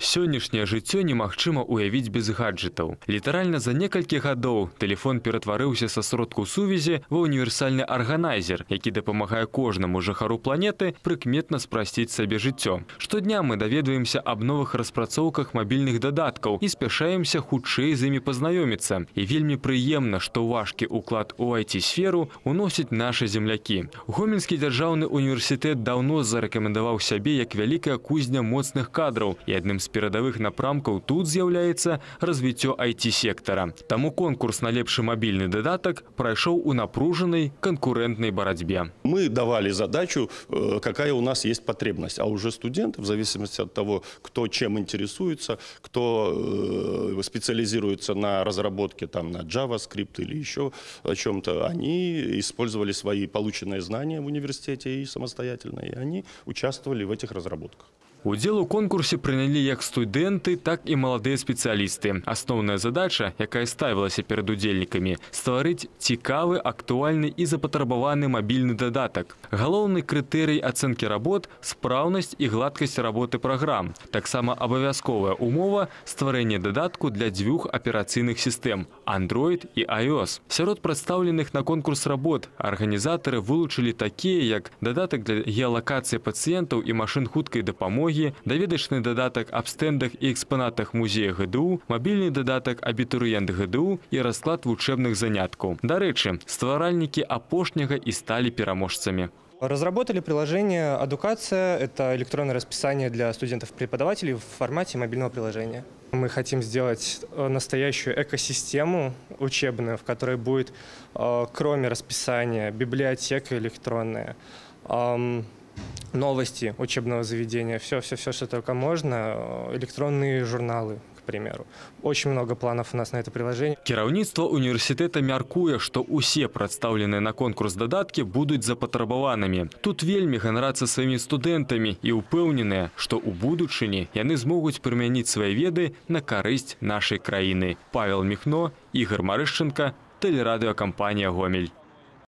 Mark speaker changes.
Speaker 1: Сённяшняе жыццё немагчыма уявіць без гаджетаў. Літаральна за некалькі гадоў тэлефон ператварыўся са сродку сувязі ва універсальны арганайзер, які дапамагае кожнаму жыхару планеты прыкметна спрасціць сабе жыццё. Штодня мы даведваемся аб новых распрацоўках мабільных дадаткаў і спяшаемся хутчэй з імі пазнаёміцца. І вельмі прыемна, што важкі ўклад у IT-сферу уносяць нашы землякі. Гомельскі дзяржаўны універсітэт даўно зарэкамендаваў сябе як вялікая кузня моцных кадраў, і адным з перадавых напрамкаў тут з'яўляецца развіццё IT-сектара. Таму конкурс на лепшы мабільны дадатак прайшоў у напружанай канкурентнай барацьбе.
Speaker 2: Мы давали задачу, какая у нас есть потребность, а уже студенты, в зависимости от того, кто чем интересуется, кто специализируется на разработке на JavaScript или еще о чем-то, они использовали свои полученные знания в университете и самостоятельно, и они участвовали в этих разработках.
Speaker 1: Удзел у конкурсе прынялі як студэнты, так і маладыя спецыялісты. Асноўная задача, якая ставілася перад удзельнікамі – стварыць цікавы, актуальны і запатрабаваны мабільны дадатак. Галоўны крытэрый ацэнкі работ – спраўнасць і гладкасць работы праграм. Таксама абавязковая умова – стварэнне дадатку для дзвюх аперацыйных сістэм – Android і iOS. Сярод прадстаўленых на конкурс работ арганізатары вылучылі такія, як дадатак для геалакацыі пацыентаў і машын хуткай дапамогі, даведачны дадатак аб стэндах і экспанатах музея ГДУ, мабільны дадатак абітурыент ГДУ і расклад вучэбных заняткаў. Дарэчы, стваральнікі апошняга і сталі пераможцамі.
Speaker 3: Разработали приложение «Адукация». Это электронное расписание для студентов-преподавателей в формате мобильного приложения. Мы хотим сделать настоящую экосистему учебную, в которой будет, кроме расписания, библиотека электронная, новости учебного заведения, все, что только можно, электронные журналы, к примеру. Очень много планов у нас на это приложение.
Speaker 1: Кіраўніцтва універсітэта мяркуе, што ўсе прадстаўленыя на конкурс дадаткі будуць запатрабаванымі. Тут вельмі ганарацца сваімі студэнтамі і ўпэўненыя, што ў будучыні яны змогуць прымяніць свае веды на карысць нашай краіны. Павел Міхно, Ігор Марышченка, тэлерадыёкампанія «Гомель».